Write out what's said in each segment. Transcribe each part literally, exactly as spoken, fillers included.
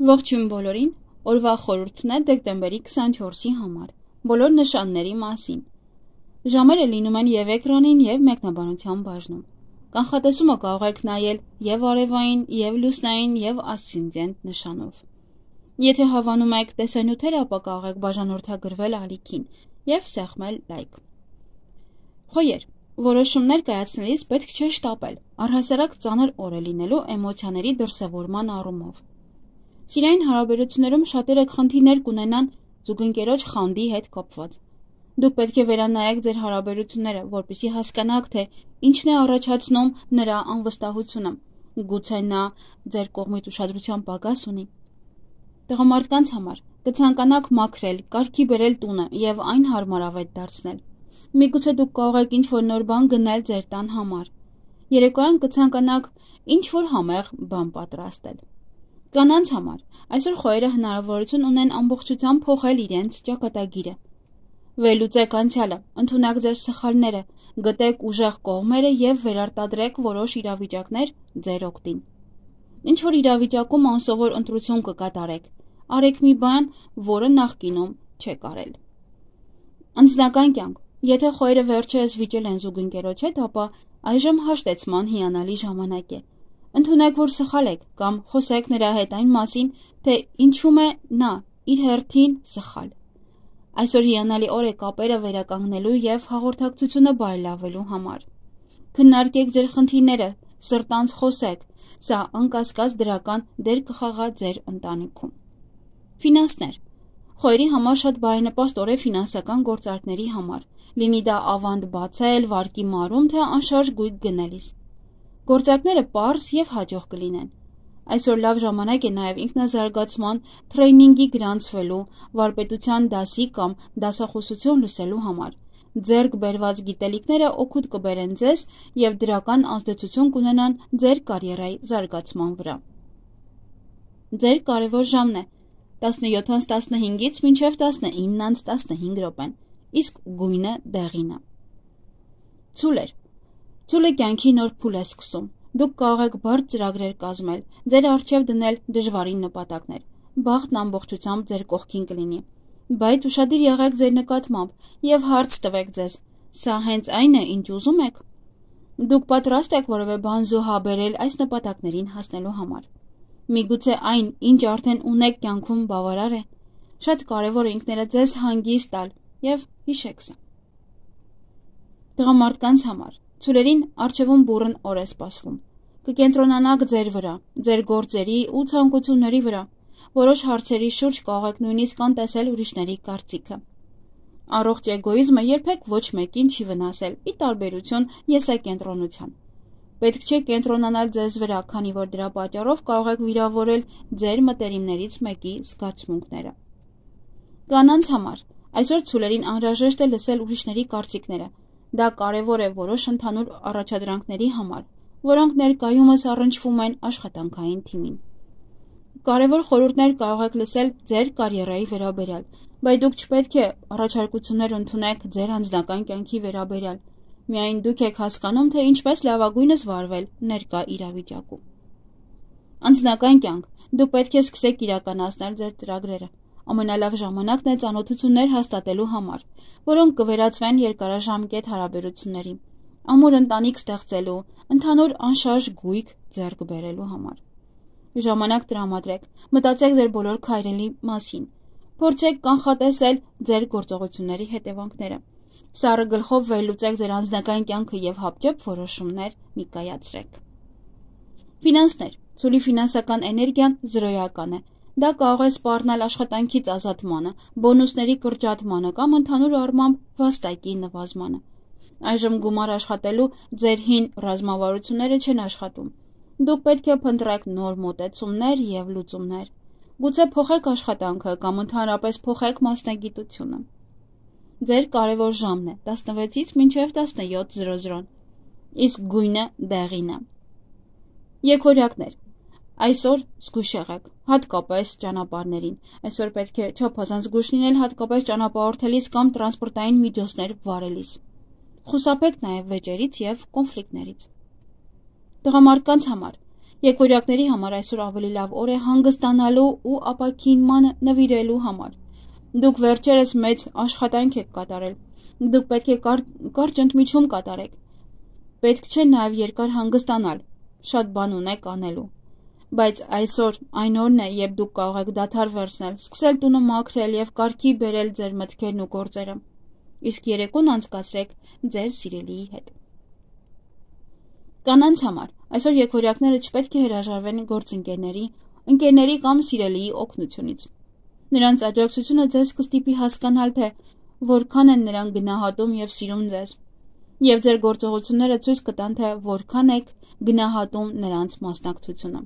Ողջույն բոլորին, օրվա խորհուրդն է դեկտեմբերի քսանչորսի համար, բոլոր նշանների մասին։ Ժամերը լինում են և էկրանին և մեկնաբանության բաժնում։ Կանխատեսումը կարող եք նայել և արևային, և լուսնային, և ասցենդենտ նշանով։ Եթե հավանում եք տեսանյութերը, ապա կարող եք բաժանորդագրվել ալիքին և սեղմել լայք։ Խոյեր, որոշումներ կայացնելիս պետք չէ շտապել, առհասարակ ծանր օր է լինելու էմոցիաների դրսևորման առումով։ Սիրային հարաբերություններում շատերը խնդիրներ կունենան զուգընկերոջ խանդի հետ կապված։ Դուք պետք է վերանայեք ձեր հարաբերությունները, որպեսզի հասկանաք, թե ինչն է առաջացնում նրա անվստահությունը, գուցե նա ձեր կողմից ուշադրության պակաս ունի։ Տղամարդկանց համար կցանկանաք մաքրել, կարգի բերել տունը և այն հարմարավետ դարձնել։ Միգուցե դուք կարող եք ինչ-որ նոր բան գնել ձեր տան համար։ Երեկոյան կցանկանաք ինչ-որ համեղ բան պատրաստել։ Կանանց համար այսօր խոյերը հնարավորություն ունեն ամբողջությամբ փոխել իրենց ճակատագիրը։ Վերլուծեք անցյալը, ընդունեք ձեր սխալները, գտեք ուժեղ կողմերը և վերարտադրեք որոշ իրավիճակներ ձեր օգտին։ Ինչ-որ իրավիճակում անսովոր ընտրություն կկատարեք, արեք մի բան, որը նախկինում չեք արել։ Անձնական կյանք, եթե խոյերը վերջերս վիճել են զուգընկերոջ հետ, ապա այժմ հաշտեցման հիանալի ժամանակ է։ Ընդունեք, որ սխալ եք, կամ խոսեք նրա հետ այն մասին, թե ինչում է նա իր հերթին սխալ։ Այսօր հիանալի օր է կապերը վերականգնելու և հաղորդակցությունը բարելավելու համար։ Քննարկեք ձեր խնդիրները, սրտանց խոսեք, սա անկասկած դրական դեր կխաղա ձեր ընտանիքում։ Ֆինանսներ, խոյերի համար շատ բարենպաստ օր է ֆինանսական գործարքների համար, լինի դա ավանդ բացել, վարկի մարում, թե անշարժ գույք գնելիս։ Գործարքները պարզ և հաջող կլինեն։ Այսօր լավ ժամանակ է նաև ինքնազարգացման, թրեյնինգի գրանցվելու, վարպետության դասի կամ դասախոսություն լսելու համար։ Ձեռք բերված գիտելիքները օգուտ կբերեն ձեզ և դրական ազդեցություն կունենան ձեր կարիերայի զարգացման վրա։ Ձեր կարևոր ժամն է տասնյոթից տասնհինգից մինչև տասնինից տասնհինգ րոպեն, իսկ գույնը դեղինը։ Ցուլեր, ցուլը կյանքի նոր փուլ է սկսում։ Դուք կարող եք բարդ ծրագրեր կազմել, ձեր առջև դնել դժվարին նպատակներ։ Բախտն ամբողջությամբ ձեր կողքին կլինի։ Բայց ուշադիր եղեք ձեր նկատմամբ և հարց տվեք ձեզ. սա հենց այն է, ինչ ուզում եք։ Դուք պատրաստ եք որևէ բան զոհաբերել այս նպատակներին հասնելու համար։ Միգուցե այն, ինչ արդեն ունեք կյանքում, բավարար է։ Շատ կարևոր է ինքներդ ձեզ հանգիստ տալ և հիշեք սա։ Տղամարդկանց համար ցուլերին առջևում բուռն օր է սպասվում։ Կկենտրոնանաք ձեր վրա, ձեր գործերի ու ցանկությունների վրա։ Որոշ հարցերի շուրջ կարող եք նույնիսկ անտեսել ուրիշների կարծիքը։ Առողջ էգոիզմը երբեք ոչ մեկին չի վնասել, ի տարբերություն եսակենտրոնության։ Պետք չէ կենտրոնանալ ձեզ վրա, քանի որ դրա պատճառով կարող եք վիրավորել ձեր մտերիմներից մեկի զգացմունքները։ Կանանց համար այսօր ցուլերին անհրաժեշտ է լսել ուրիշների կարծիքները։ Դա կարևոր է որոշ ընդհանուր առաջադրանքների համար, որոնք ներկայումս առնչվում են աշխատանքային թիմին։ Կարևոր խորհուրդներ կարող եք լսել ձեր կարիերայի վերաբերյալ, բայց դուք չպետք է առաջարկություններ ընդունեք ձեր անձնական կյանքի վերաբերյալ։ Միայն դուք եք հասկանում, թե ինչպես լավագույնս վարվել ներկա իրավիճակում։ Անձնական կյանք, դուք պետք է սկսեք իրականացնել ձեր ծրագրերը։ Ամենալավ ժամանակն է ծանոթություններ հաստատելու համար, որոնք կվերածվեն երկարաժամկետ հարաբերությունների, ամուր ընտանիք ստեղծելու, ընդհանուր անշարժ գույք ձեռք բերելու համար։ Ժամանակ տրամադրեք, մտածեք ձեր բոլոր քայլերի մասին, փորձեք կանխատեսել ձեր գործողությունների հետևանքները։ Սառը գլխով վերլուծեք ձեր անձնական կյանքը և հապճեպ որոշումներ մի կայացրեք։ Ֆինանսներ, ցուլի ֆինանսական էներգիան զրոյական է։ Դա կարող է սպառնալ աշխատանքից ազատմանը, բոնուսների կրճատմանը կամ ընդհանուր առմամբ վաստակի նվազմանը։ Այժմ գումար աշխատելու ձեր հին ռազմավարությունները չեն աշխատում։ Դուք պետք է փնտրեք նոր մոտեցումներ և լուծումներ։ Գուցե փոխեք աշխատանքը կամ ընդհանրապես փոխեք մասնագիտությունը։ Ձեր կարևոր ժամն է տասնվեցից մինչև տասնյոթ զրո զրո, իսկ գույնը դեղինը։ Եկօրյակներ, այսօր զգույշ եղեք, հատկապես ճանապարհներին։ Այսօր պետք է չափազանց զգույշ լինել, հատկապես ճանապարհորդելիս կամ տրանսպորտային միջոցներ վարելիս։ Խուսափեք նաև վեճերից և կոնֆլիկտներից։ Տղամարդկանց համար Եկորյակների համար այսօր ավելի լավ օր է հանգստանալու ու ապաքինման նվիրելու համար։ Դուք վերջերս մեծ աշխատանք եք կատարել։ Դուք պետք է կարճ ընդմիջում կատարեք։ Պետք չէ նաև երկար հանգստանալ, շատ բան ունեք անելու։ Բայց այսօր այն օրն է, երբ դուք կարող եք դադար վերցնել, սկսել տունը մաքրել եւ կարգի բերել ձեր մտքերն ու գործերը։ Իսկ երեկոն անցկացրեք ձեր սիրելիի հետ։ Կանանց համար այսօր եկորյակները չպետք է հրաժարվեն գործընկերների, ընկերների կամ սիրելիի օգնությունից։ Նրանց աջակցությունը ձեզ կստիպի հասկանալ, թե որքան են նրանք գնահատում եւ սիրում ձեզ, եւ ձեր գործողությունները ցույց կտան, թե որքան եք գնահատում նրանց մասնակցությունը։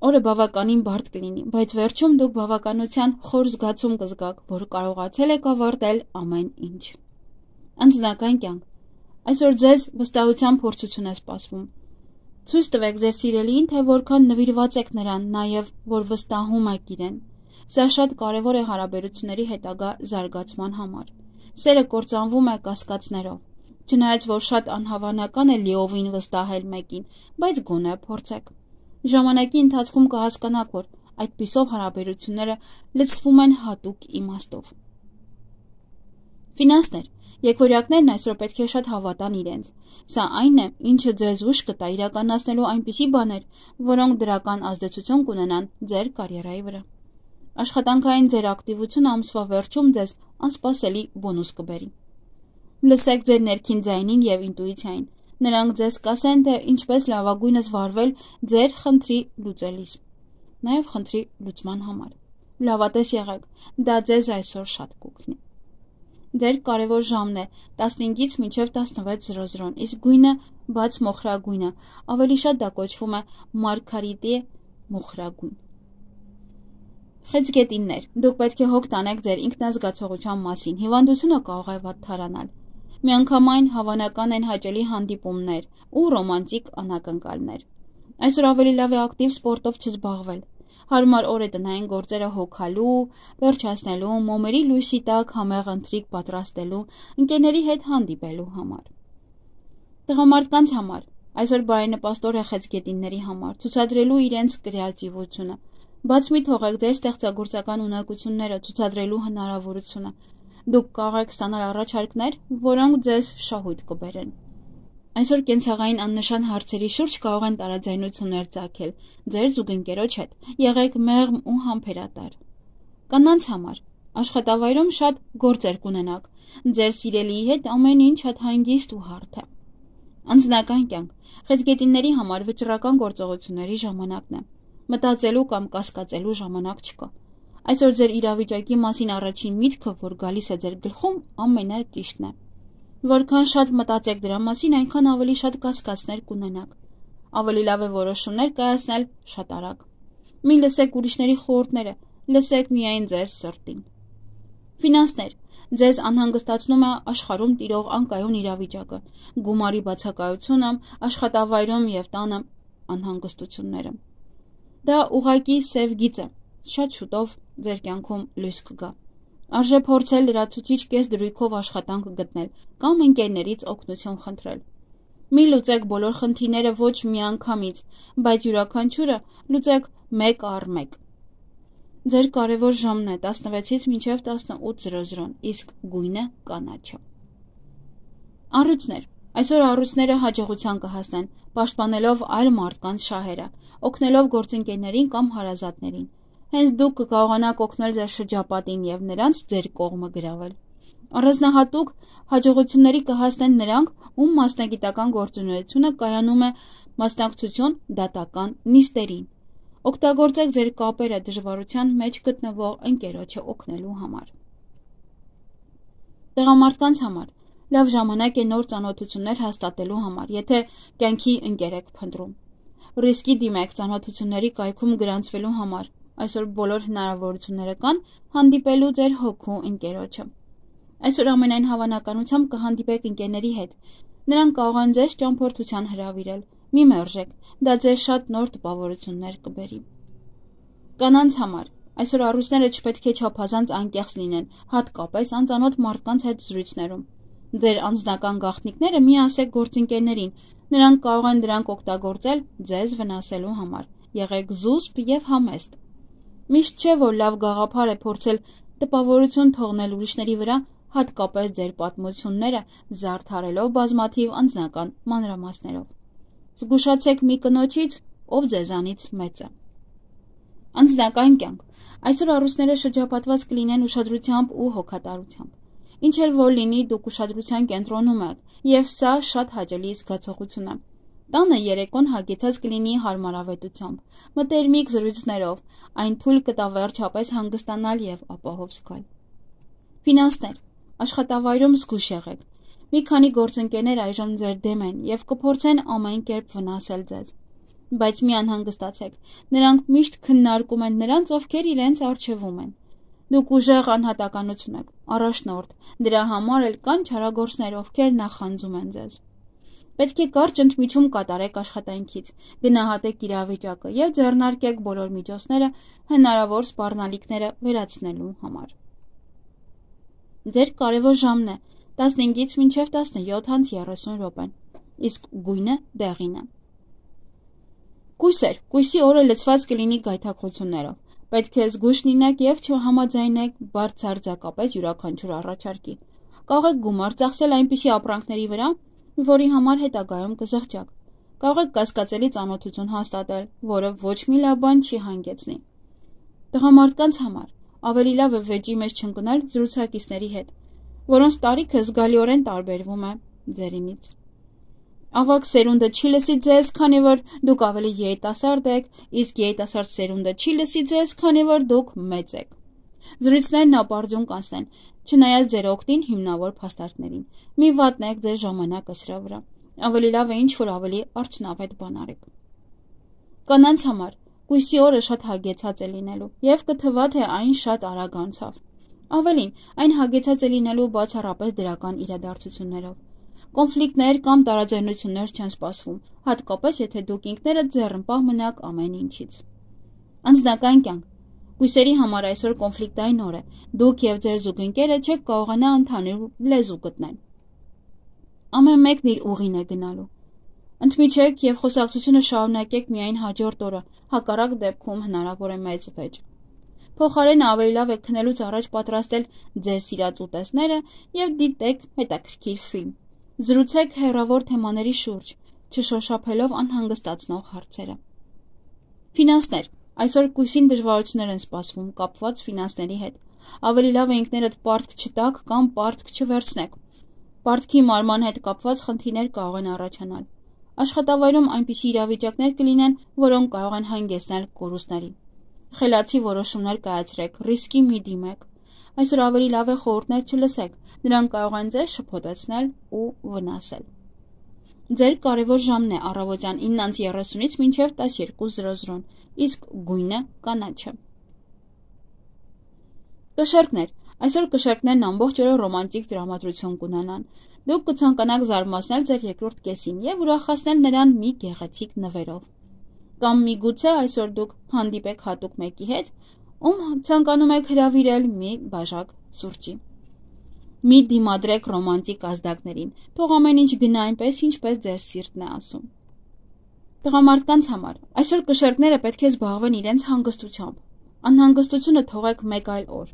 Օրը բավականին բարդ կլինի, բայց վերջում դուք բավականության խոր զգացում կզգաք, որ կարողացել եք ավարտել ամեն ինչ։ Անձնական կյանք այսօր ձեզ վստահության փորձություն է սպասվում։ Ցույց տվեք ձեր սիրելիին, թե որքան նվիրված եք նրան, նաև որ վստահում եք իրեն։ Սա շատ կարևոր է հարաբերությունների հետագա զարգացման համար։ Սերը կործանվում է կասկածներով։ Չնայած որ շատ անհավանական է լիովին վստահել մեկին, բայց գոնե փորձեք։ Ժամանակի ընթացքում կհասկանաք, որ այդպիսով հարաբերությունները լցվում են հատուկ իմաստով։ Ֆինանսներ եկորյակներն այսօր պետք է շատ հավատան իրենց։ Սա այն է, ինչը ձեզ ուժ կտա իրականացնելու այնպիսի բաներ, որոնք դրական ազդեցություն կունենան ձեր կարիերայի վրա։ Աշխատանքային ձեր ակտիվությունը ամսվա վերջում ձեզ անսպասելի բոնուս կբերի։ Լսեք ձեր ներքին ձայնին եւ ինտուիցիային։ Նրանք ձեզ կասեն, թե ինչպես լավագույնս վարվել ձեր խնդրի լուծելիս, նաեւ խնդրի լուծման համար։ Լավատես եղեք, դա ձեզ այսօր շատ կօգնի։ Ձեր կարևոր ժամն է տասնհինգից մինչև տասնվեց զրո զրոն, իսկ գույնը բաց մոխրագույնը, ավելի շատ դա կոչվում է մարգարիտե մոխրագույն։ Խեցգետիններ, դուք պետք է հոգ տանեք ձեր ինքնազգացողության մասին, հիվանդությունը կարող է վատթարանալ։ Միանգամայն հավանական են հաճելի հանդիպումներ ու ռոմանտիկ անակնկալներ։ Այսօր ավելի լավ է ակտիվ սպորտով չզբաղվել։ Հարմար օր է տնային գործերը հոգալու, վերջացնելու, մոմերի լույսի տակ համեղ ընթրիք պատրաստելու, ընկերների հետ հանդիպելու համար։ Տղամարդկանց համար այսօր բարենպաստ օր է խեցգետինների համար, ցուցադրելու իրենց կրեատիվությունը։ Բաց մի թողեք ձեր ստեղծագործական ունակությունները ցուցադրելու հնարավորությունը։ Դուք կարող եք ստանալ առաջարկներ, որոնք ձեզ շահույթ կբերեն։ Այսօր կենցաղային աննշան հարցերի շուրջ կարող են տարաձայնություններ ծագել ձեր զուգընկերոջ հետ։ Եղեք մեղմ ու համբերատար։ Կանանց համար աշխատավայրում շատ գործեր կունենաք։ Ձեր սիրելիի հետ ամեն ինչ շատ հանգիստ ու հարթ է։ Անձնական կյանք խեցգետինների համար վճռական գործողությունների ժամանակն է։ Մտածելու կամ կասկածելու ժամանակ չկա։ Այսօր ձեր իրավիճակի մասին առաջին միտքը, որ գալիս է ձեր գլխում, ամենաճիշտն է։ Որքան շատ մտածեք դրա մասին, այնքան ավելի շատ կասկածներ կունենաք։ Ավելի լավ է որոշումներ կայացնել շատ արագ։ Մի լսեք ուրիշների խորհուրդները, լսեք միայն ձեր սրտին։ Ֆինանսներ ձեզ անհանգստացնում է աշխարհում տիրող անկայուն իրավիճակը, գումարի բացակայությունը, աշխատավայրում եւ տանը անհանգստությունները։ Դա ուղղակի սև գիծ է, շատ շուտով ձեր կյանքում լույս կգա։ Արժե փորձել լրացուցիչ կես դրույքով աշխատանք գտնել կամ ընկերներից օգնություն խնդրել։ Մի լուծեք բոլոր խնդիրները ոչ միանգամից, բայց յուրաքանչյուրը լուծեք մեկ առ մեկ։ Ձեր կարևոր ժամն է տասնվեցից մինչև տասնութ զրո զրոն, իսկ գույնը կանաչը։ Առույցներ այսօր առույցները հաջողության կհասնեն, պաշտպանելով այլ մարդկանց շահերը, օգնելով գործընկերներին կամ հարազատներին։ Հենց դուք կկարողանաք օգնել ձեր շրջապատին եւ նրանց ձեր կողմը գրավել։ Առանձնահատուկ հաջողությունների կհասնեն նրանք, ում մասնագիտական գործունեությունը կայանում է մասնակցություն դատական նիստերին։ Օգտագործեք ձեր կապերը դժվարության մեջ գտնվող ընկերոջը օգնելու համար։ Տղամարդկանց համար լավ ժամանակ է նոր ծանոթություններ հաստատելու համար, եթե կյանքի ընկեր եք փնտրում։ Ռիսկի դիմեք ծանոթությունների կայքում գրանցվելու համար։ Այսօր բոլոր հնարավորությունները կան հանդիպելու ձեր հոգու ընկերոջը։ Այսօր ամենայն հավանականությամբ կհանդիպեք ընկերների հետ։ Նրանք կարող են ձեզ ճամփորդության հրավիրել։ Մի մերժեք, դա ձեզ շատ նոր տպավորություններ կբերի։ Կանանց համար այսօր առույցները չպետք է չափազանց անկեղծ լինեն, հատկապես անծանոթ մարդկանց հետ զրույցներում։ Ձեր անձնական գաղտնիքները մի ասեք գործընկերներին, Նրանք կարող են դրանք օգտագործել ձեզ վնասելու համար։ Եղեք զուսպ և համեստ։ Միշտ չէ, որ լավ գաղափար է փորձել տպավորություն թողնել ուրիշների վրա, հատկապես ձեր պատմությունները զարդարելով բազմաթիվ անձնական մանրամասներով։ Զգուշացեք մի կնոջից, ով ձեզանից մեծ է։ Անձնական կյանք։ Այսօր առուստները շրջապատված կլինեն ուշադրությամբ ու հոգատարությամբ։ Ինչ էլ որ լինի, դուք ուշադրության կենտրոնում եք, և սա շատ հաճելի զգացողություն է։ Տանը երեկոն հագեցած կլինի հարմարավետությամբ, մտերմիկ զրույցներով, այն թույլ կտա վերջապես հանգստանալ և ապահով զգալ։ Ֆինանսներ։ Աշխատավայրում զգույշ եղեք։ Մի քանի գործընկերներ այժմ ձեր դեմ են և կփորձեն ամեն կերպ վնասել ձեզ։ Բայց մի անհանգստացեք, նրանք միշտ քննարկում են նրանց, ովքեր իրենց առջևում են։ Դուք ուժեղ անհատականություն եք, առաջնորդ, դրա համար էլ կան չարագործներ, ովքեր նախանձում են ձեզ։ Պետք է կարճ ընդմիջում կատարեք աշխատանքից, գնահատեք իրավիճակը և ձեռնարկեք բոլոր միջոցները հնարավոր սպառնալիքները վերացնելու համար։ Ձեր կարևոր ժամն է տասնհինգից մինչև տասնյոթ անց երեսուն րոպեն, իսկ գույնը դեղին է։ Կույսեր, կույսի օրը լցված կլինի գայթակղություններով։ Պետք է զգույշ լինեք և չհամաձայնեք բարձրարձակապես յուրաքանչյուր առաջարկի։ Կարող եք գումար ծախսել այնպիսի ապրանքների վրա, որի համար հետագայում կզղջաք։ Կարող եք կասկածելի ծանոթություն հաստատել, որը ոչ մի լավ բան չի հանգեցնի։ Տղամարդկանց համար ավելի լավ է վեճի մեջ չընկնել զրուցակիցների հետ, որոնց տարիքը զգալիորեն տարբերվում է ձերինից։ Ավագ սերունդը չի լսի ձեզ, քանի որ դուք ավելի երիտասարդ եք, իսկ երիտասարդ սերունդը չի լսի ձեզ, քանի որ դուք մեծ եք։ Զրույցներն ապարդյուն կանցնեն, չնայած ձեր օգտին հիմնավոր փաստարկներին։ Մի վատնեք ձեր ժամանակը սրա վրա։ Ավելի լավ է ինչ-որ ավելի արդյունավետ բան արեք։ Կանանց համար կույսի օրը շատ հագեցած է լինելու, և կթվա, թե այն շատ արագ անցավ։ Ավելին, այն հագեցած է լինելու բացառապես դրական իրադարձություններով։ Կոնֆլիկտներ կամ տարաձայնություններ չեն սպասվում, հատկապես եթե դուք ինքներդ ձեռնպահ մնաք ամեն ինչից։ Անձնական կյանք։ Կույսերի համար այսօր կոնֆլիկտային օր է։ Դուք և ձեր զուգընկերը չեք կարողանա ընդհանուր լեզու գտնել։ Ամեն մեկն իր ուղին է գնալու։ Ընդմիջեք և խոսակցությունը շարունակեք միայն հաջորդ օրը, հակառակ դեպքում հնարավոր է մեծ վեճ։ Փոխարենը ավելի լավ է քնելուց առաջ պատրաստել ձեր սիրած ուտեստները և դիտեք հետաքրքիր ֆիլմ։ Զրուցեք հեռավոր թեմաների շուրջ, չշոշափելով անհանգստացնող հարցերը։ Ֆինանսներ։ Այսօր կույսին դժվարություններ են սպասվում կապված ֆինանսների հետ։ Ավելի լավ է ինքներդ պարտք չտաք կամ պարտք չվերցնեք։ Պարտքի մարման հետ կապված խնդիրներ կարող են առաջանալ։ Աշխատավայրում այնպիսի իրավիճակներ կլինեն, որոնք կարող են հանգեցնել կորուստների։ Խելացի որոշումներ կայացրեք, ռիսկի մի դիմեք։ Այսօր ավելի լավ է խորհուրդներ չլսեք, նրանք կարող են ձեզ շփոթեցնել ու վնասել։ Ձեր կարևոր ժամն է առավոտյան իննից երեսունից մինչև տասներկու զրո զրոն, իսկ գույնը կանաչը։ Կշեռքներ։ Այսօր կշեռքներն ամբողջ օրը ռոմանտիկ տրամադրություն կունենան։ Դուք կցանկանաք զարմացնել ձեր երկրորդ կեսին և ուրախացնել նրան մի գեղեցիկ նվերով։ Կամ միգուցե այսօր դուք հանդիպեք հատուկ մեկի հետ, ում ցանկանում եք հրավիրել մի բաժակ սուրճի։ Մի դիմադրեք ռոմանտիկ ազդակներին, թող ամեն ինչ գնա այնպես, ինչպես ձեր սիրտն է ասում։ Տղամարդկանց համար այսօր կշեռքները պետք է զբաղվեն իրենց հանգստությամբ։ Անհանգստությունը թողեք մեկ այլ օր։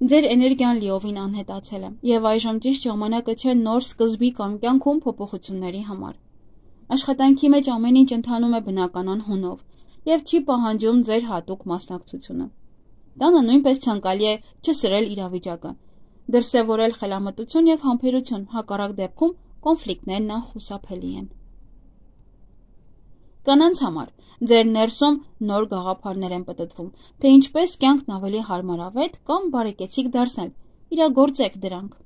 Ձեր էներգիան լիովին անհետացել է, և այժմ ճիշտ ժամանակը չէ նոր սկզբի կամ կյանքում փոփոխությունների համար։ Աշխատանքի մեջ ամեն ինչ ընթանում է բնականon հունով և չի պահանջում ձեր հատուկ մասնակցությունը։ Տանը նույնպես ցանկալի է չսրել իրավիճակը, դրսևորել խելամտություն և համբերություն, հակառակ դեպքում կոնֆլիկտներն անխուսափելի են։ Կանանց համար ձեր ներսում նոր գաղափարներ են պտտվում, թե ինչպես կյանքն ավելի հարմարավետ կամ բարեկեցիկ դարձնել, իրագործեք դրանք։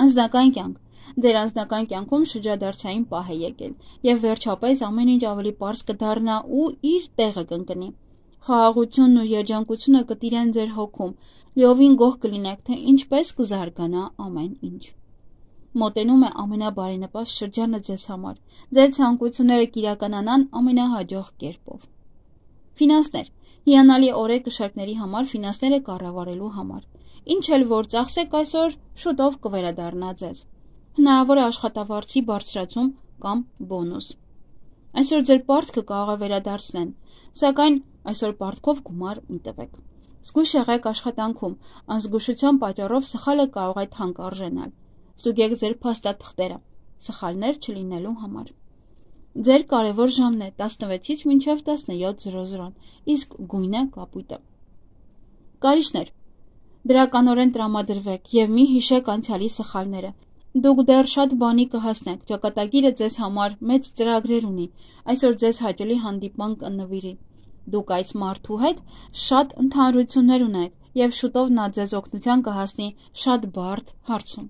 Անձնական կյանք։ Ձեր անձնական կյանքում շրջադարձային պահ է եկել, և վերջապես ամեն ինչ ավելի պարզ կդառնա ու իր տեղը կընկնի։ Խաղաղությունն ու երջանկությունը կտիրեն ձեր հոգում, լիովին գոհ կլինեք, թե ինչպես կզարգանա ամեն ինչ։ Մոտենում է ամենաբարենպաստ շրջանը ձեզ համար։ Ձեր ցանկությունները կիրականանան ամենահաջող կերպով։ Ֆինանսներ։ Հիանալի օր է կշեռքների համար ֆինանսները կառավարելու համար։ Ինչ էլ որ ծախսեք այսօր, շուտով կվերադառնա ձեզ։ Հնարավոր է աշխատավարձի բարձրացում կամ բոնուս։ Այսօր ձեր պարտքը կարող է վերադարձնել, սակայն այսօր պարտքով գումար մի տվեք։ Զգույշ եղեք աշխատանքում, անզգուշության պատճառով սխալը կարող է թանկարժենալ։ Ստուգեք ձեր փաստաթղթերը, սխալներ չլինելու համար։ Ձեր կարևոր ժամն է տասնվեցից մինչև տասնյոթ զրո զրո, իսկ գույնը կապույտը։ Կարիճներ, դրականորեն տրամադրվեք եւ մի հիշեք անցյալի սխալները։ Դուք դեռ շատ բանի կհասնեք, ճակատագիրը ձեզ համար մեծ ծրագրեր ունի, այսօր ձեզ հաճելի հանդիպման կնվիրի։ Դուք այս մարդու հետ շատ ընդհանրություններ ունեք եւ շուտով նա ձեզ օգնության կհասնի շատ բարդ հարցում։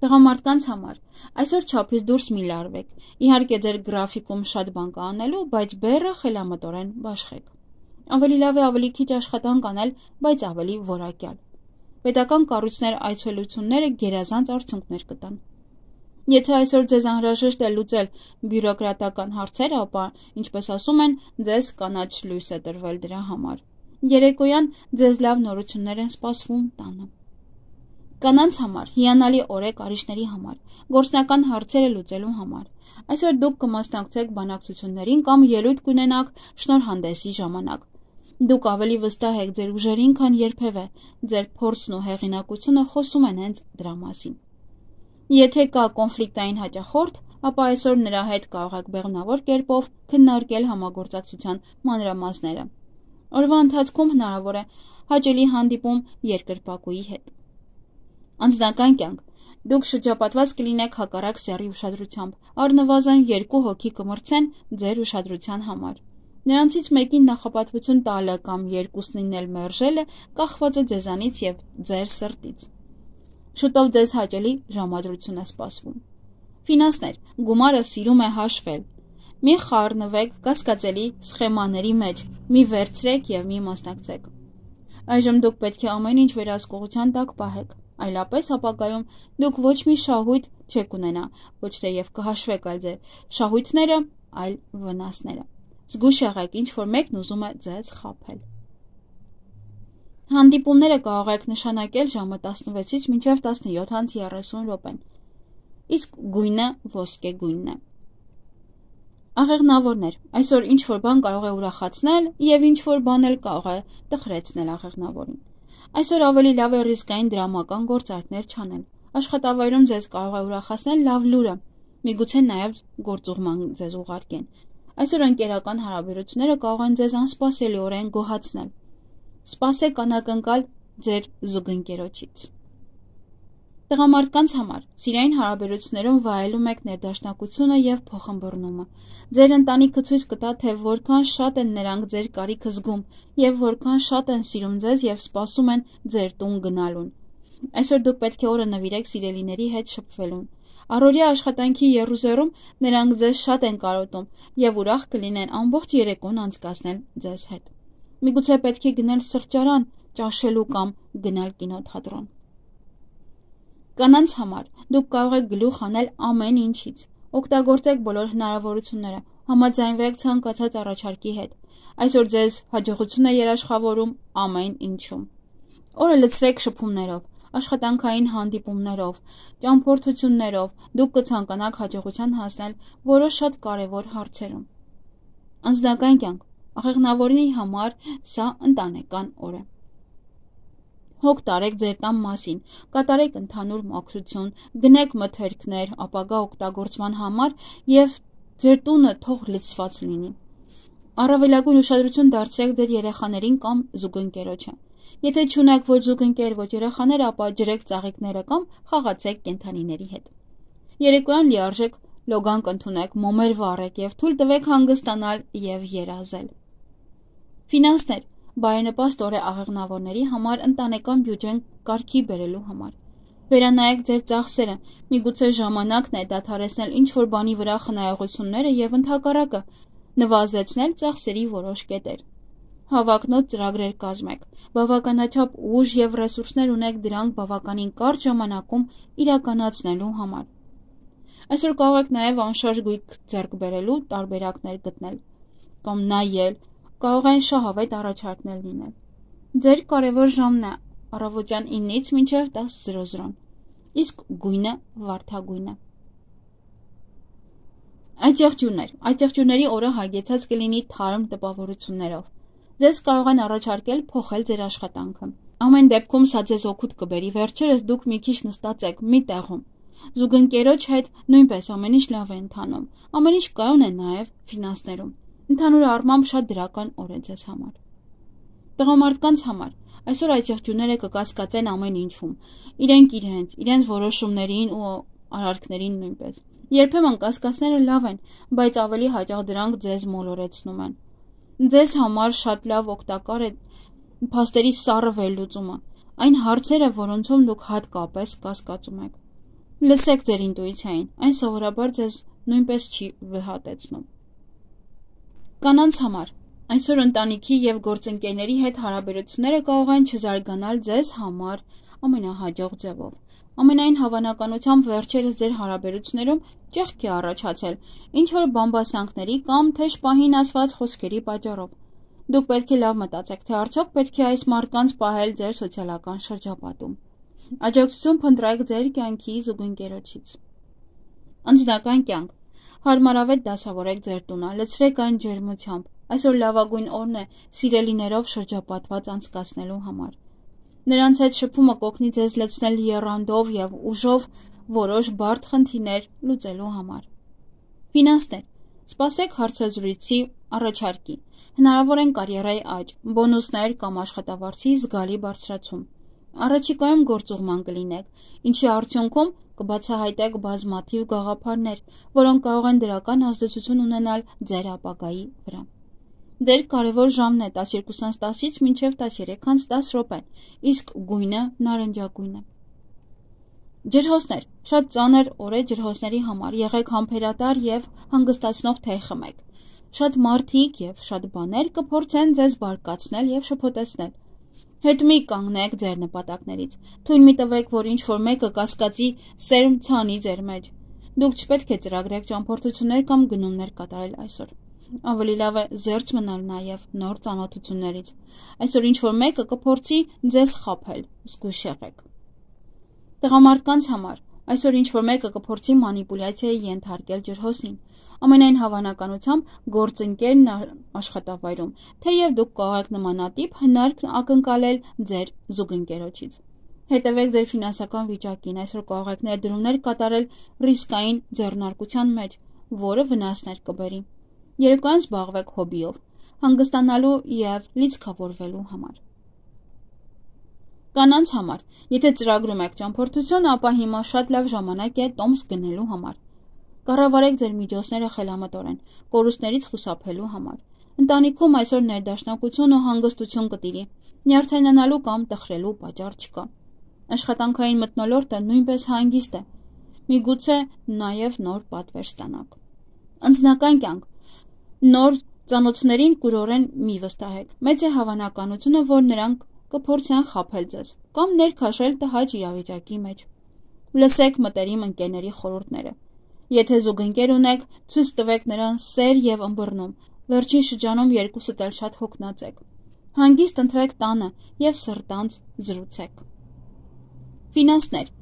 Տղամարդկանց համար այսօր չափից դուրս մի լարվեք, իհարկե ձեր գրաֆիկում շատ բան կա անելու, բայց բեռը խելամտորեն բաշխեք։ Ավելի լավ է ավելի քիչ աշխատանք անել, բայց ավելի որակյալ։ Պետական կառույցներ այցելությունները գերազանց արդյունքներ կտան։ Եթե այսօր ձեզ անհրաժեշտ է լուծել բյուրոկրատական հարցերը, ապա, ինչպես ասում են, ձեզ կանաչ լույս է տրվել դրա համար։ Երեկոյան ձեզ լավ նորություններ են սպասվում տանը։ Կանանց համար հիանալի օր է կարիճների համար, գործնական հարցերը լուծելու համար։ Այսօր դուք կմասնակցեք բանակցություններին կամ ելույթ կունենաք շնորհանդեսի ժամանակ։ Դուք ավելի վստահ եք ձեր ուժերին, քան երբևէ, ձեր փորձն ու հեղինակությունը խոսում են հենց դրա մասին։ Եթե կա կոնֆլիկտային հաճախորդ, ապա այսօր նրա հետ կարող եք բեղմնավոր կերպով քննարկել համագործակցության մանրամասները։ Օրվա ընթացքում հնարավոր է հաճելի հանդիպում երկրպագուի հետ։ Անձնական կյանք։ Դուք շրջապատված կլինեք հակառակ սեռի ուշադրությամբ, առնվազն երկու հոգի կմրցեն ձեր ուշադրության համար։ Նրանցից մեկին նախապատվություն տալը կամ երկուսնին էլ մերժելը կախված է ձեզանից եւ ձեր սրտից։ Շուտով ձեզ հաճելի ժամադրություն է սպասվում։ Ֆինանսներ, գումարը սիրում է հաշվել։ Մի խառնվեք կասկածելի սխեմաների մեջ, մի վերցրեք եւ մի մասնակցեք։ Այժմ դուք պետք է ամեն ինչ վերահսկողության տակ պահեք, այլապես ապագայում դուք ոչ մի շահույթ չեք ունենա, ոչ թե եւ կհաշվեք այլ ձեր շահույթները, այլ վնասները։ Զգույշ եղեք, ինչ որ մեկն ուզում է ձեզ խաբել։ Հանդիպումները կարող եք նշանակել ժամը տասնվեցից մինչև տասնյոթ երեսուն րոպեն, իսկ գույնը ոսկե գույնն է։ Աղեղնավորներ, այսօր ինչ որ բան կարող է ուրախացնել եւ ինչ որ բան էլ կարող է տխրեցնել աղեղնավորին։ Այսօր ավելի լավ է ռիսկային դրամական գործարքներ չանել։ Աշխատավայրում ձեզ կարող է ուրախացնել լավ լուրը, միգուցե նաեւ գործուղման ձեզ ուղարկեն։ Այսօր ընկերական հարաբերությունները կարող են ձեզ անսպասելիորեն գոհացնել։ Սպասեք անակնկալ ձեր զուգընկերոջից։ Տղամարդկանց համար սիրային հարաբերություններում վայելում եք ներդաշնակությունը եւ փոխըմբռնումը։ Ձեր ընտանիքը ցույց կտա, թե որքան շատ են նրանք ձեր կարիքը զգում եւ որքան շատ են սիրում ձեզ եւ սպասում են ձեր տուն գնալուն։ Այսօր դուք պետք է օրը նվիրեք սիրելիների հետ շփվելուն։ Առօրյա աշխատանքի եռուզեռում նրանք ձեզ շատ են կարոտում եւ ուրախ կլինեն ամբողջ երեկոն անցկасնել ձեզ հետ։ Միգուցե պետք է գնել սրճարան, ճաշելու կամ գնալ կինոթատրոն։ Կանանց համար դուք կարող եք գլուխ անել ամեն ինչից։ Օգտագործեք բոլոր հնարավորությունները, համաձայնվեք ցանկացած առաջարկի հետ։ Այսօր ձեզ հաջողություն է երաշխավորում ամեն ինչում։ Օրը լցրեք շփումներով, աշխատանքային հանդիպումներով, ճամփորդություններով, դուք կցանկանաք հաջողության հասնել որոշ շատ կարևոր հարցերում։ Անձնական կյանք, աղեղնավորի համար սա ընտանեկան օր է։ Հոգ տարեք ձեր տան մասին, կատարեք ընդհանուր մաքրություն, գնեք մթերքներ ապագա օգտագործման համար եւ ձեր տունը թող լցված լինի։ Առավելագույն ուշադրություն դարձրեք ձեր երեխաներին կամ զուգընկերոջը։ Եթե չունեք ոչ զուգընկեր, ոչ երեխաներ, ապա ջրեք ծաղիկները կամ խաղացեք կենդանիների հետ։ Երեկոյան լիարժեք լոգանք ընդունեք, մոմեր վառեք եւ թույլ տվեք հանգստանալ եւ երազել։ Ֆինանսներ, բարենպաստ օր է աղեղնավորների համար ընտանեկան բյուջեն կարգի բերելու համար։ Վերանայեք ձեր ծախսերը, միգուցե ժամանակն է դադարեցնել ինչ որ բանի վրա խնայողությունները եւ ընդհակառակը նվազեցնել ծախսերի որոշ կետեր։ Հավակնոտ ծրագրեր կազմեք, բավականաչափ ուժ եւ ռեսուրսներ ունեք դրանք բավականին կարճ ժամանակում իրականացնելու համար։ Այսօր կարող եք նաեւ անշարժ գույք ձեռք բերելու տարբերակներ գտնել կամ նայել, կարող են շահավետ առաջարկներ լինել։ Ձեր կարևոր ժամն է առավոտյան ինից մինչև տասը զրո զրո, իսկ գույնը վարդագույնը։ Այդ եղջյուրներ, այդ եղջյուրների օրը հագեցած կլինի թարմ տպավորություններով։ Ձեզ կարող են առաջարկել փոխել ձեր աշխատանքը։ Ամեն դեպքում սա ձեզ օգուտ կբերի, վերջերս դուք մի քիչ նստած եք մի տեղում։ Զուգընկերոջ հետ նույնպես ամեն ինչ լավ է ընթանում, ամեն ինչ կայուն է նաև ֆինանսներում։ Ընդհանուր առմամբ շատ դրական օր է ձեզ համար։ Տղամարդկանց համար այսօր այդ եղջյուրները կկասկածեն ամեն ինչում, իրենք իրենց, իրենց որոշումներին ու արարքներին նույնպես։ Երբեմն կասկածները լավ են, բայց ավելի հաճախ դրանք ձեզ մոլորեցնում են։ Ձեզ համար շատ լավ օգտակար է փաստերի սառը վերլուծումը, այն հարցերը, որոնցում դուք հատկապես կասկածում եք։ Լսեք ձեր ինտուիցիային, այն սովորաբար ձեզ նույնպես չի վհատեցնում։ Կանանց համար այսօր ընտանիքի եւ գործընկերների հետ հարաբերությունները կարող են չզարգանալ ձեզ համար ամենահաջող ձևով։ Ամենայն հավանականությամբ վերջերս ձեր հարաբերություններում ճեղք է առաջացել ինչ-որ բամբասանքների կամ թեժ պահին ասված խոսքերի պատճառով։ Դուք պետք է լավ մտածեք, թե արդյոք պետք է այս մարդկանց պահել ձեր սոցիալական շրջապատում։ Աջակցություն փնտրեք ձեր կյանքի զուգընկերոջից։ Անձնական կյանք։ Հարմարավետ դասավորեք ձեր տունը, լցրեք այն ջերմությամբ։ Այսօր լավագույն օրն է սիրելիներով շրջապատված անցկացնելու համար։ Նրանց հետ շփումը կօգնի ձեզ լցնել եռանդով եւ ուժով որոշ բարդ խնդիրներ լուծելու համար։ Ֆինանսներ։ Սպասեք հարցազրույցի առաջարկի։ Հնարավոր են կարիերայի աճ, բոնուսներ կամ աշխատավարձի զգալի բարձրացում։ Առաջիկայում գործուղման կլինեք, ինչի արդյունքում կբացահայտեք բազմաթիվ գաղափարներ, որոնք կարող են դրական ազդեցություն ունենալ ձեր ապագայի վրա։ Ձեր կարևոր ժամն է տասներկուսից տասից մինչև տասներեքից տասը րոպեն, իսկ գույնը նարնջագույն է։ Ջրհոսներ։ Շատ ծանր օր է ջրհոսների համար, եղեք համբերատար եւ հանգստացնող թեյ խմեք։ Շատ մարդիկ եւ շատ բաներ կփորձեն ձեզ բարկացնել եւ շփոթեցնել։ Հետ մի կանգնեք ձեր նպատակներից։ Թույլ մի տվեք, որ ինչ-որ մեկը կասկածի սերմ ցանի ձեր մեջ։ Դուք չպետք է ծրագրեք ճամփորդություններ կամ գնումներ կատարել այսօր։ Ավելի լավ է զերծ մնալ նաև նոր ծանոթություններից։ Այսօր ինչ-որ մեկը կփորձի ձեզ խաբել, զգույշ եղեք։ Տղամարդկանց համար այսօր ինչ-որ մեկը կփորձի մանիպուլյացիայի ենթարկել ջրհոսին։ Ամենայն հավանականությամբ գործընկերն աշխատավայրում, թեև դուք կարող եք նմանատիպ հնարք ակնկալել ձեր զուգընկերոջից։ Հետևեք ձեր ֆինանսական վիճակին, այսօր կարող եք ներդրումներ կատարել ռիսկային ձեռնարկության մեջ, որը վնասներ կբերի։ Երեկոյան զբաղվեք հոբիով, հանգստանալու և լիցքավորվելու համար։ Կանանց համար, եթե ծրագրում եք ճամփորդություն, ապա հիմա շատ լավ ժամանակ է տոմս գնելու համար։ Կառավարեք ձեր միջոցները խելամտորեն, կորուստներից խուսափելու համար։ Ընտանիքում այսօր ներդաշնակություն ու հանգստություն կտիրի, նյարդայնանալու կամ տխրելու պատճառ չկա։ Աշխատանքային մթնոլորտը նույնպես հանգիստ է, միգուցե նաև նոր պատվեր ստանաք։ Անձնական կյանք։ Նոր ծանոթներին կուրորեն մի վստահեք։ Մեծ է հավանականությունը, որ նրանք կփորձեն խաբել ձեզ կամ ներքաշել տհաճ իրավիճակի մեջ։ Լսեք մտերիմ ընկերների խորհուրդները։ Եթե զուգընկեր ունեք, ցույց տվեք նրան սեր եւ ըմբռնում։ Վերջին շրջանում երկուսդ էլ շատ հոգնած եք։ Հանգիստ ընտրեք տանը եւ սրտանց զրուցեք։ Ֆինանսներ։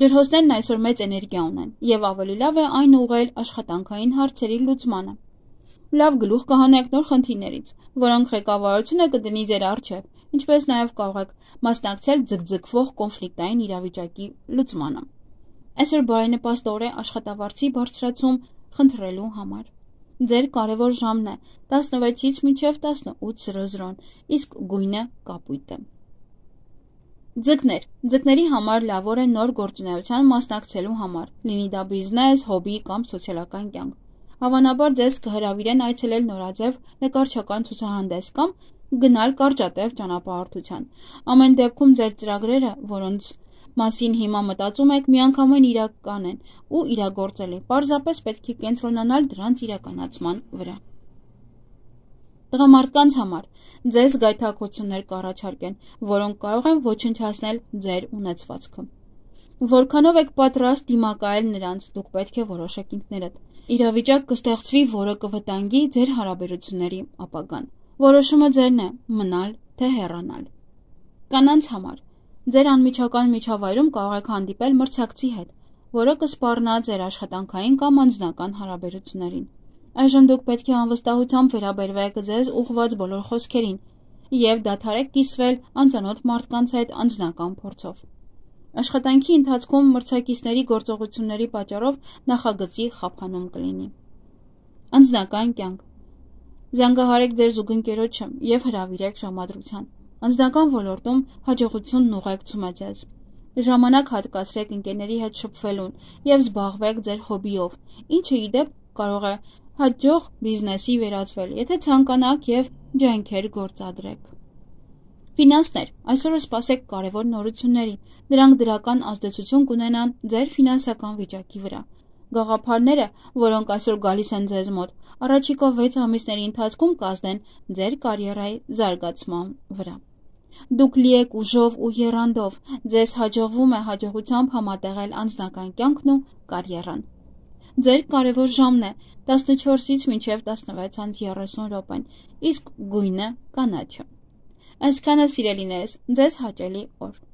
Ջրհոսներն այսօր մեծ էներգիա ունեն եւ ավելի լավ է այն ուղղել աշխատանքային հարցերի լուծմանը։ Լավ գլուխ կհանեք նոր խնդիրներից, որոնք ղեկավարությունը կդնի ձեր առջև, ինչպես նաև կարող եք մասնակցել ձգձգվող կոնֆլիկտային իրավիճակի լուծմանը։ Այսօր բարենպաստ օր է աշխատավարձի բարձրացում խնդրելու համար։ Ձեր կարևոր ժամն է տասնվեցից մինչև տասնութ, իսկ գույնը կապույտ է։ Ձկներ։ Ձկների համար լավ օր է նոր գործունեության մասնակցելու համար, լինի դա բիզնես, հոբի կամ սոցիալական կյանք։ Հավանաբար ձեզ կհրավիրեն այցելել նորաձև նկարչական ցուցահանդես կամ գնալ կարճատև ճանապարհորդության։ Ամեն դեպքում ձեր ծրագրերը, որոնց մասին հիմա մտածում եք, միանգամայն իրական են ու իրագործելի, պարզապես պետք է կենտրոնանալ դրանց իրականացման վրա։ Տղամարդկանց համար ձեզ գայթակղություններ կառաջարկեն, որոնք կարող են ոչնչացնել ձեր ունեցվածքը։ Որքանով եք պատրաստ դիմակայել նրանց, դուք պետք է որոշեք ինքներդ։ Իրավիճակ կստեղծվի, որը կվտանգի ձեր հարաբերությունների ապագան։ Որոշումը ձերն է՝ մնալ թե հեռանալ։ Կանանց համար ձեր անմիջական միջավայրում կարող եք հանդիպել մրցակցի հետ։ որը կսպառնա ձեր աշխատանքային կամ անձնական հարաբերություններին։ Այժմ դուք պետք է անվստահությամբ վերաբերվեք ձեզ ուղղված բոլոր խոսքերին և դադարեք կիսվել անծանոթ մարդկանց հետ անձնական փորձով։ Աշխատանքի ընթացքում մրցակիցների գործողությունների պատճառով նախագծի խափանում կլինի։ Անձնական կյանք։ Զանգահարեք ձեր զուգընկերոջը և հրավիրեք ժամադրության։ Անձնական ոլորտում հաջողությունն ուղեկցում է ձեզ։ Ժամանակ հատկացրեք ընկերների հետ շփվելուն և զբաղվեք ձեր հոբբիով, ինչը ի դեպ կարող է հաջող բիզնեսի վերածվել, եթե ցանկանաք և ջանքեր գործադրեք։ Ֆինանսներ։ Այսօր սպասեք կարևոր նորությունների, դրանք դրական ազդեցություն կունենան ձեր ֆինանսական վիճակի վրա։ Գաղափարները, որոնք այսօր գալիս են ձեզ մոտ, առաջիկա վեց ամիսների ընթացքում կազդեն ձեր կարիերայի զարգացման վրա։ Դուք լի եք ուժով ու եռանդով, ձեզ հաջողվում է հաջողությամբ համատեղել անձնական կյանքն ու կարիերան։ Ձեր կարևոր ժամն է տասնչորսից մինչև տասնվեց երեսուն րոպեն, իսկ գույնը կանաչը։ Այսքանը, սիրելիներս, ձեզ հաճելի օր։